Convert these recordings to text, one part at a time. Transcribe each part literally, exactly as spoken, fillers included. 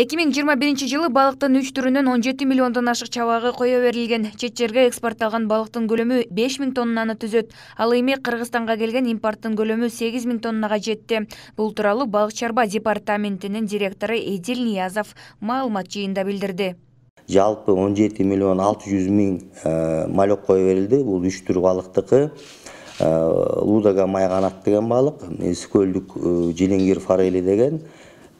эки миң жыйырма биринчи жылы балыктын үч түрүнөн он жети миллиондон ашык чабагы кое берилген. Чет жерге экспортталган балыктын көлөмү беш миң тоннаны түзөт. Ал эми Кыргызстанга келген импорттун көлөмү сегиз миң тоннага жетти. Бул тууралуу Балык чарба департаментинин директору Эдил Ниязов маалымат жыйында билдирди. Жалпы он жети миллион алты жүз миң малек кое берилди. Бул үч түр балыктыкы. Лудага майганат деген балык, Искөлдүк жилиңгир форели деген,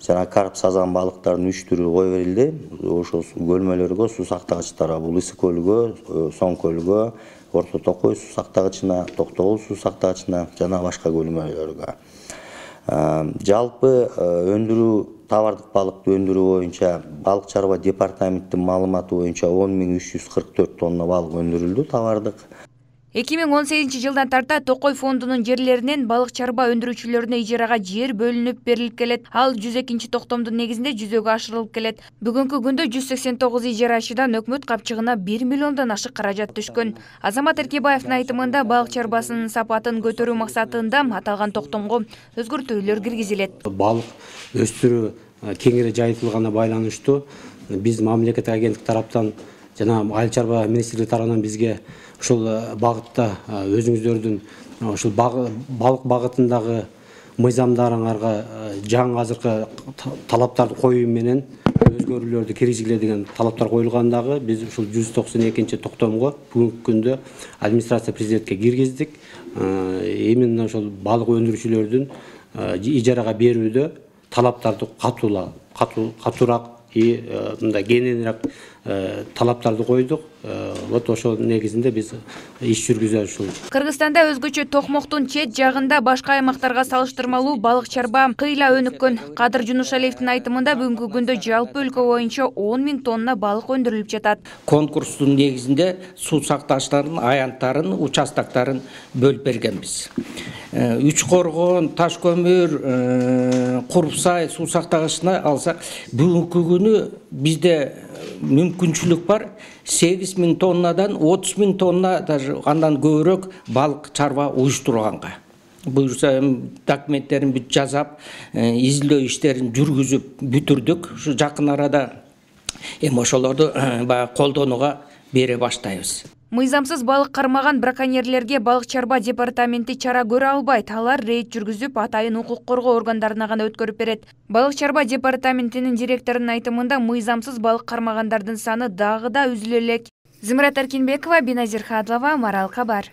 жана карп сазан балыктардын үч түрү кое берилди. Ошол көлмөлөргө, суу сактагычтарга, бул Ысык көлгө, Соң көлгө, Орто Токой суу сактагычына, Токтогул суу сактагычына жана башка көлмөлөргө. Жалпы өндүрүү, товардык балыкты өндүрүү боюнча Балык чарба департаментинин маалыматы боюнча он миң үч жүз кырк төрт тонна балык өндүрүлдү, товардык. эки миң он сегизинчи жылдан тарта Токой фондунун жерлеринен балык чарба өндүрүүчүлөрүнө ижарага жер бөлүнүп берилип келет. Ал жүз экинчи токтомдун негизинде жүзөгө ашырылып келет. Бүгүнкү күндө жүз сексен тогуз ижарачыдан өкмөт капчыгына бир миллиондон ашык каражат түшкөн. Азамат Эркебаевдин айтымында балык чарбасынын сапатын көтөрүү максатында аталган токтомго өзгөртүүлөр киргизилет. Балык өстүрүү кеңири жайылтылганына байланыштуу биз мамлекеттик агенттик тараптан жана Айыл чарба министрлиги тарабынан бизге ушул багытта өзүңүздөрдүн ушул балык багытындагы мыйзамдарыңарга жаңы азыркы талаптарды коюу менен өзгөрүүлөрдү киргизгиле деген талаптар коюлгандагы биз ушул жүз токсон экинчи токтомго бүгүнкү күндө администрация президентке киргиздик. Именно ошол балык өндүрүүчүлөрдүн ижарага берүүдө талаптарды катуулап, катуураак и мындай кененирээк талаптарды койдук. Вот ошол негизинде биз иш жүргүзөбүз ушул. Кыргызстанда өзгөчө токмоктун чет жагында башка аймактарга салыштырмалуу балык чарба кыйла өнүккөн. Кадыр Жунушалиевдин айтымында бүгүнкү күндө жалпы өлкө боюнча он миң тонна балык өндүрүлүп жатат. Конкурстун негизинде суу сактагычтардын аянттарын, участоктарын бөлүп бергенбиз. Үч коргон, Таш көмүр, Курпсай суу сактагычына алсак, бүгүнкү күнү бизде мүмкүнчүлүк бар. сегиз миң тоннадан отуз миң тонна, даже андан көбүрөөк балык чарба уюштурганга. Буюрса документтерин бүт жасап, изилдөө иштерин жүргүзүп бүтүрдүк. Ушу жакын арада эми ошолорду баягы колдонууга бере баштайбыз. Мыйзамсыз балык кармаган браконьерлерге Балык чарба департаменти чара көрө албайт. Алар рейд жүргүзүп, атайын укук коргоо органдарына гана өткөрүп берет. Балык чарба департаментинин директорунун айтымында мыйзамсыз балык кармагандардын саны дагы да үзүлө элек. Зымырат Эркинбекова, Биназир Хадлова, Марал Кабар.